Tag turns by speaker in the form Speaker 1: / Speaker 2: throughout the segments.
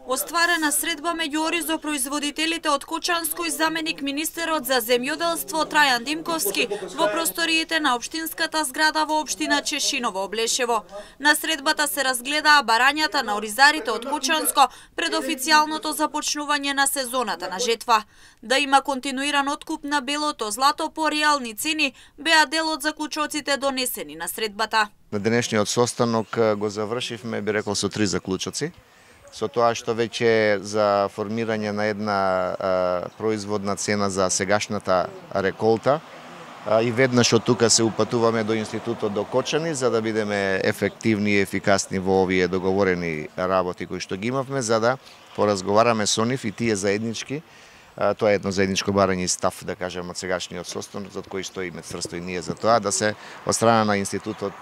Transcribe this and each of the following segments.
Speaker 1: Остварена средба меѓу оризопроизводителите од Кочанско и заменик министерот за земјоделство Трајан Димковски во просториите на општинската зграда во општина Чешиново, Облешево. На средбата се разгледаа барањата на оризарите од Кочанско пред официјалното започнување на сезоната на жетва. Да има континуиран откуп на белото злато по реални цени беа дел од заклучоците донесени на средбата.
Speaker 2: На денешниот состанок го завршивме, би рекол, со 3 заклучоци. Со тоа што веќе за формирање на една производна цена за сегашната реколта и веднаш од тука се упатуваме до институтот до Кочани за да бидеме ефективни и ефикасни во овие договорени работи кои што ги имавме, за да поразговараме со нив и тие заеднички. Тоа е едно заедничко барање и став, да кажем, од сегашниот состанок, за кој стоиме цврсто и ние за тоа, да се од страна на институтот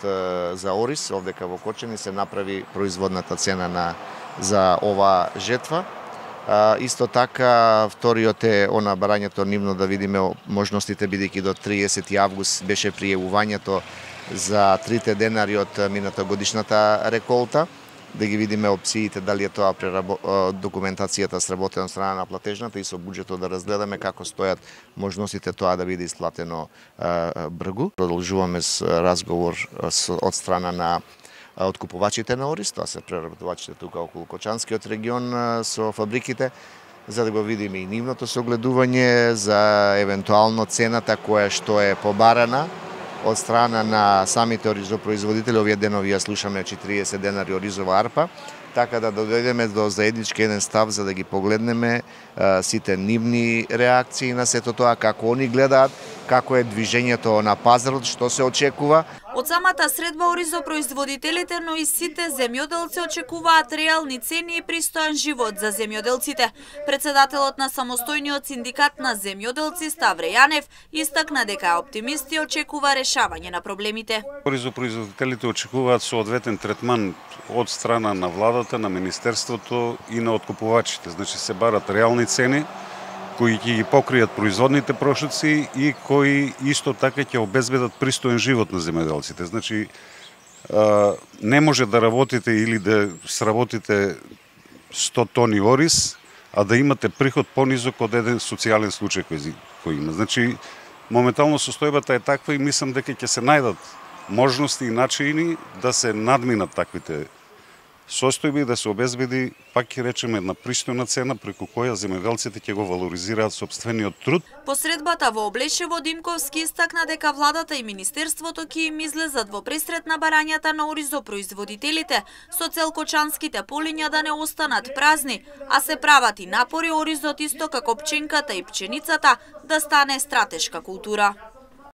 Speaker 2: за ориз, овдека во Кочани, се направи производната цена за ова жетва. Исто така, вториот е она барањето нивно да видиме можностите, бидејќи до 30 август беше пријавувањето за 3 денари од мината годишната реколта, да ги видиме опциите, дали е тоа документацијата сработена од страна на платежната и со буџетот да разгледаме како стојат можностите тоа да биде исплатено бргу. Продолжуваме с разговор од страна на откупувачите на ориз, тоа се преработувачите тука околу Кочанскиот регион со фабриките, за да го видиме и нивното согледување за евентуално цената која што е побарана од страна на самите оризопроизводители. Овие денови ја слушаме 40 денари оризова арпа, така да дојдеме до заеднички еден став за да ги погледнеме сите нивни реакции на сето тоа, како они гледаат, како е движењето на пазарот, што се очекува.
Speaker 1: Од самата средба оризопроизводителите, но и сите земјоделци очекуваат реални цени и пристојан живот за земјоделците. Председателот на самостојниот синдикат на земјоделци Ставре Јанев истакна дека е оптимист и очекува решавање на проблемите.
Speaker 3: Оризопроизводителите очекуваат соодветен третман од страна на владата, на министерството и на откупувачите. Значи се барат реални цени кои ќе ги покријат производните прошоци и кои исто така ќе обезбедат пристоен живот на земјоделците. Значи, не може да работите или да сработите 100 тони ориз, а да имате приход понизок од еден социјален случај кој има. Значи, моментално состојбата е таква и мислам дека ќе се најдат можности и начини да се надминат таквите состојби и да се обезбеди, пак ќе речеме, една пристојна цена преку која земјоделците ќе го валоризираат сопствениот труд.
Speaker 1: По средбата во Облешево Димковски истакна дека владата и министерството ќе им излезат во пресрет на барањата на оризопроизводителите со цел кочанските полиња да не останат празни, а се прават и напори оризот исто како пченката и пченицата да стане стратешка култура.